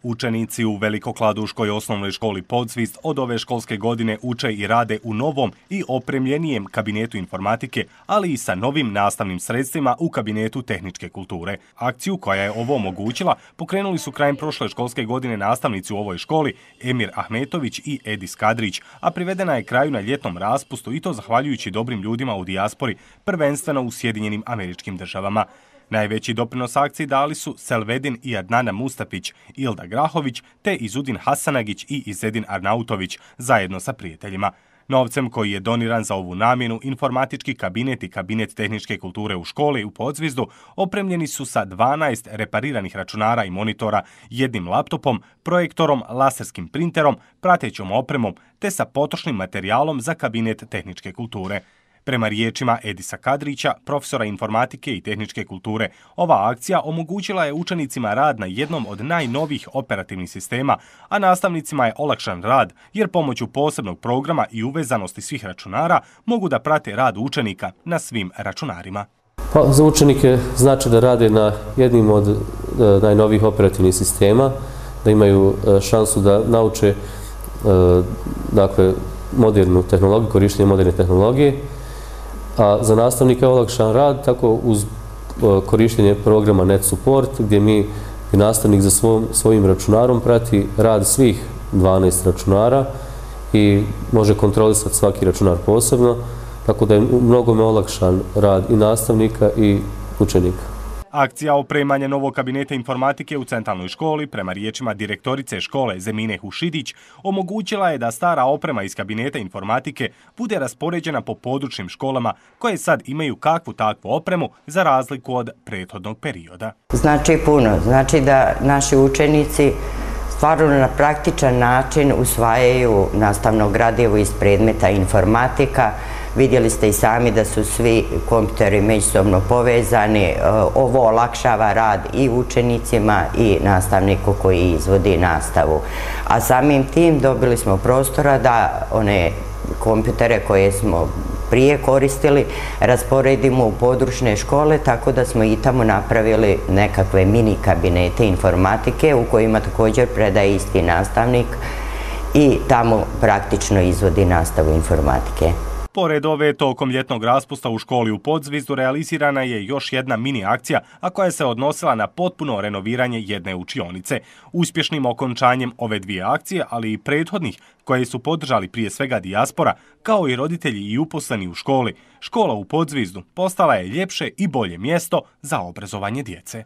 Učenici u Velikokladuškoj osnovnoj školi Podzvizd od ove školske godine uče i rade u novom i opremljenijem kabinetu informatike, ali i sa novim nastavnim sredstvima u kabinetu tehničke kulture. Akciju koja je ovo omogućila pokrenuli su krajem prošle školske godine nastavnici u ovoj školi Emir Ahmetović i Edis Kadrić, a privedena je kraju na ljetnom raspustu i to zahvaljujući dobrim ljudima u dijaspori, prvenstveno u Sjedinjenim Američkim Državama. Najveći doprinos akciji dali su Selvedin i Adnana Mustafić, Ilda Grahović te Izudin Hasanagić i Izedin Arnautović zajedno sa prijateljima. Novcem koji je doniran za ovu namjenu, informatički kabinet i kabinet tehničke kulture u školi u Podzvizdu opremljeni su sa 12 repariranih računara i monitora, jednim laptopom, projektorom, laserskim printerom, pratećom opremom te sa potrošnim materijalom za kabinet tehničke kulture. Prema riječima Edisa Kadrića, profesora informatike i tehničke kulture, ova akcija omogućila je učenicima rad na jednom od najnovijih operativnih sistema, a nastavnicima je olakšan rad jer pomoću posebnog programa i uvezanosti svih računara mogu da prate rad učenika na svim računarima. Pa, za učenike znači da rade na jednim od najnovijih operativnih sistema, da imaju šansu da nauče modernu tehnologiju, korištenje moderne tehnologije, a za nastavnika je olakšan rad tako uz korištenje programa Net Support, gdje nastavnik za svojim računarom prati rad svih 12 računara i može kontrolisati svaki računar posebno, tako da je mnogome olakšan rad i nastavnika i učenika. Akcija opremanja novog kabineta informatike u centralnoj školi, prema riječima direktorice škole Zemine Hušidić, omogućila je da stara oprema iz kabineta informatike bude raspoređena po područnim školama koje sad imaju kakvu takvu opremu za razliku od prethodnog perioda. Znači puno. Znači da naši učenici stvarno na praktičan način usvajaju nastavno gradivo iz predmeta informatika. Vidjeli ste i sami da su svi kompjuteri međusobno povezani. Ovo olakšava rad i učenicima i nastavniku koji izvodi nastavu. A samim tim dobili smo prostora da one kompjutere koje smo prije koristili rasporedimo u područne škole, tako da smo i tamo napravili nekakve mini kabinete informatike u kojima također predaje isti nastavnik i tamo praktično izvodi nastavu informatike. Pored ove, tokom ljetnog raspusta u školi u Podzvizdu realizirana je još jedna mini akcija, a koja se odnosila na potpuno renoviranje jedne učionice. Uspješnim okončanjem ove dvije akcije, ali i prethodnih, koje su podržali prije svega dijaspora, kao i roditelji i uposleni u školi, škola u Podzvizdu postala je ljepše i bolje mjesto za obrazovanje djece.